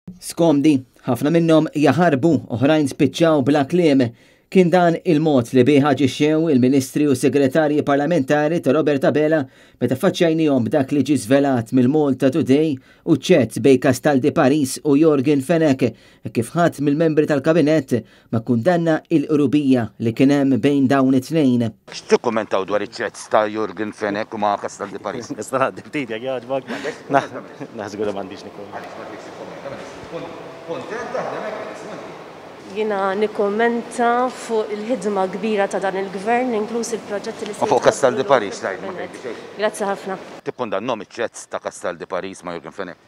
Skomdi, ħafna minnhom jaħarbu, oħrajn spiċċaw bla kliem. Kien dan il-mod li bih aġixxew il-Ministri u Segretarji Parlamentari ta' Robert Abela meta faċċajnihom b'dak li ġie żvelat mill-Malta Today u chats bejn Castaldi Paris u Yorgen Fenech kif ħadd mill-membri tal-Kabinett ma kkundanna il-qrubija li kien hemm bejn dawn it-tnejn. X'tikkummentaw dwar iċ-chats ta' Yorgen Fenech u ma' Castaldi Paris? Nista' ngħaddi ftit jekk jogħġbok? Żgur li m'għandix nikkummenta. Għaliex ma tridx tikkummenta? Mela kuntent taħdem hekk Ministru inti? Jiena nikkummenta fuq il-ħidma kbira ta' dan il-Gvern, inkluż il-proġetti li se U fuq Castaldi Paris tgħid ma tgħidli xejn? Grazzi ħafna. Tikkundannhom iċ-chats ta' Castaldi Paris ma' Yorgen Fenech?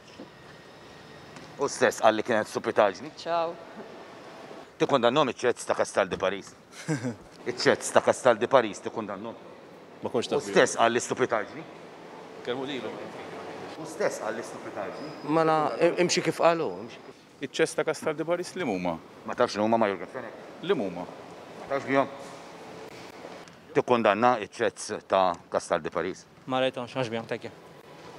Hu stess qal li kienet stupitaġni. Ciao. Tikkundannhom iċ-chats ta' Castaldi Paris? Iċ-chats ta' Castaldi Paris tikkundannhom? Ma kontx naf Hu stess qal li stupitaġni. Kellmu lilu. Hu stess qal li stupitaġni. Mela imxi kif qal hu. Iċ-chats ta' Castaldi Paris liema huma? Ma tafx li huma ma' Yorgen Fenech? Liema huma? Ma tafx bihom? Tikkundanna ċ-chats ta' Castaldi Paris? Ma rajthomx, ma nafx bihom, thank you.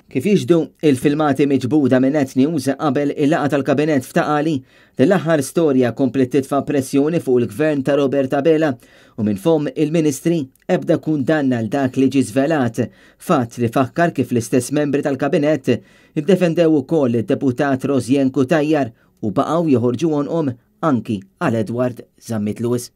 Kif jixhdu il-filmati miġbuda minn Net News qabel il-laqgħa tal-Kabinett f'Ta' Qali, din l-aħħar storja kompliet titfa' pressjoni fuq il-Gvern ta' Robert Abela u minn fomm il-Ministri ebda kundanna għal dak li ġie żvelat, fatt li fakkar kif l-istess membri tal-Kabinett iddefendew ukoll lid-Deputat Rosianne Cutajar u baqgħu joħorġu għonqhom anki għal Edward Zammit Lewis.